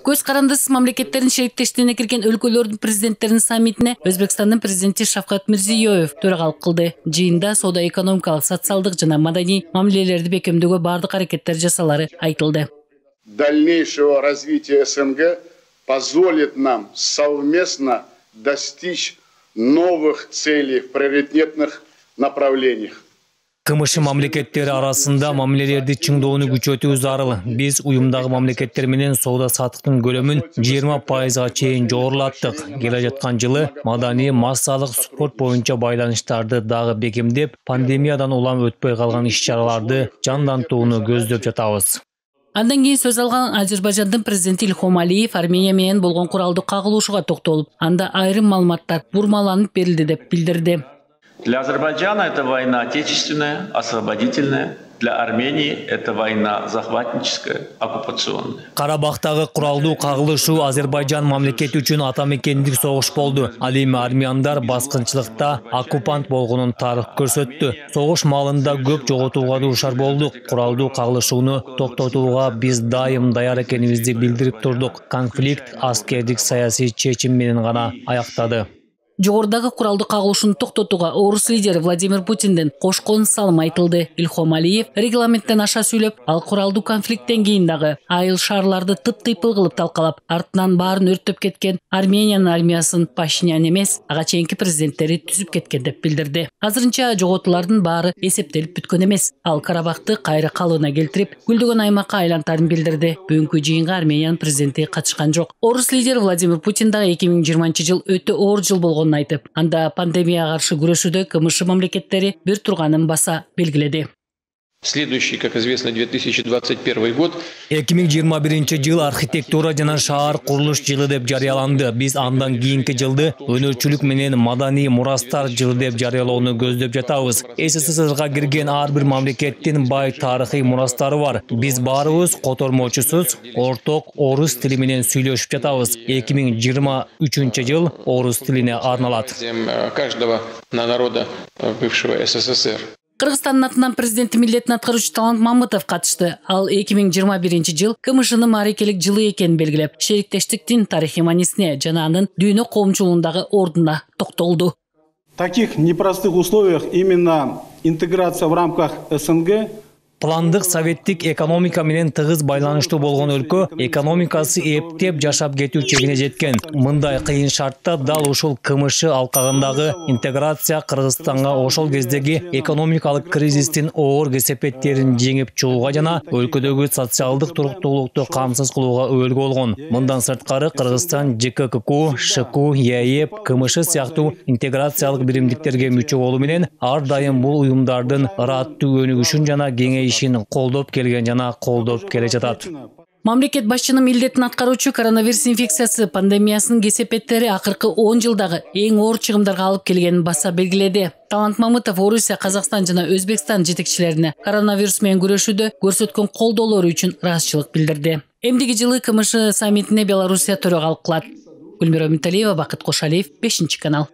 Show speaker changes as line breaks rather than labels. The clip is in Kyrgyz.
Көз карандысыз мамлекеттердин шериктештигине кирген өлкөлөрдүн президенттеринин саммитине Өзбекстандын президенти Шавкат Мирзиёев төрагалык кылды. Жыйында соода-экономикалык, социалдык жана маданий мамилелерди бекемдөөгө бардык аракеттер жасалары айтылды.
Дальнейшего развития СНГ позволит нам совместно достичь новых целей в приоритетных направлениях.
КМШ мамлекеттери арасында мамилелерди чыңдоону күчөтүү зарыл. Биз уюмдагы мамлекеттер менен соода саттыктын көлөмүн 20%га чейин жогорулаттык. Келе жаткан жылы маданий, массалык, спорт боюнча байланыштарды дагы бекемдеп, пандемиядан улам өтпөй калган иш-чараларды жандантууну көздөп жатабыз.
Андан кийин сөз алган Азербайжандын президенти Ильхом Алиев Армения менен болгон куралдуу кагылышууга токтолуп, анда айрым маалыматтар бурмаланып берилди деп билдирди.
Для Азербайджана это война отечественная, освободительная. Для Армении это война захватническая, оккупационная.
Карабактагы куралдуу кагылышуу Азербайджан мамлекети үчүн ата мекендик согуш болду. Ал эми армяндар баскынчылыкта оккупант болгонун тарых көрсөттү. Согуш маалында көп жоготууга дуушар болдук. Куралдуу кагылышууну токтотууга биз дайым даяр экенибизди билдирип турдук. Конфликт аскердик саясий чечим менен гана аяктады.
Жогорудагы куралдуу кагылышууну токтотууга орус лидери Владимир Путиндин кошкон салым айтылды. Ильхом Алиев регламенттен аша сүйлөп, ал куралдуу конфликттен кийин дагы айыл шаарларды тып-тыйпыл кылып талкалап, артынан баарын өрттөп кеткен Армениянын армиясын Пашинян эмес, ага чейинки президенттери түзүп кеткен деп билдирди. Азырынча жоготуулардын баары эсептелип бүткөн эмес. Ал Карабакты кайра калыбына келтирип, гүлдөгөн аймакка айлантарын билдирди. Бүгүнкү жыйынга Армениянын президенти катышкан жок. Орус лидери Владимир Путин дагы 2020 жыл өтө оор жыл болгон айтып, анда пандемияга каршы күрөшүүдө КМШ мамлекеттери бир турганын баса белгиледи.
Следующий, как известно, 2021 год.
2021 жыл архитектура жана шаар курулуш жылы деп жарыяланды. Биз андан кийинки жылды өнөрчүлүк менен маданий мурастар жылы деп жарыялоону көздөп жатабыз. СССРга кирген ар бир мамлекеттин бай тарыхый мурастары бар. Биз баарыбыз котормочусуз орток орус тили менен сүйлөшүп жатабыз. 2023 жыл орус тилине арналат.
Каждого народа бывшего СССР.
Кыргызстандын атынан президенти милдетин аткаруучу Талант Мамытов катышты. Ал 2021 жыл КМШнын маарекелик жылы экенин белгилеп, шериктештиктин тарыхый маанисине жана анын дүйнө коомчулугундагы ордуна токтолду.
В таких непростых условиях именно интеграция в рамках СНГ
Пландык советтик экономика менен тыгыз байланыштуу болгон өлкө экономикасы эптеп жашап кетүү чегине жеткен. Мындай кыйын шартта дал ушул КМШ алкагындагы интеграция Кыргызстанга ошол кездеги экономикалык кризистин оор кесепеттерин жеңип чыгууга жана өлкөдөгү социалдык туруктуулукту камсыз кылууга өбөлгө болгон. Мындан сырткары Кыргызстан ЖКК, ШКУ, ЕАЭП, КМШ сыяктуу интеграциялык биримдиктерге мүчө болуу менен ар дайым бул уюмдардын ыраттуу өнүгүшүн жана кеңейишин колдоп келген жана колдоп келе жатат.
Мамлекет башчынын милдетин аткаруучу коронавирус инфекциясы пандемиясынын кесепеттери акыркы 10 жылдагы эң оор чыгымдарга алып келгенин баса белгиледи. Талант Мамытов Орусия, Казакстан жана Өзбекстан жетекчилерине коронавирус менен күрөшүүдө көрсөткөн колдоолору үчүн ыраазычылык билдирди. Эмдиги жылы КМШ саммитине Белоруссия төрагалык кылат. Гүлмира Муталиева, Бакыт Кошалиев, 5 канал.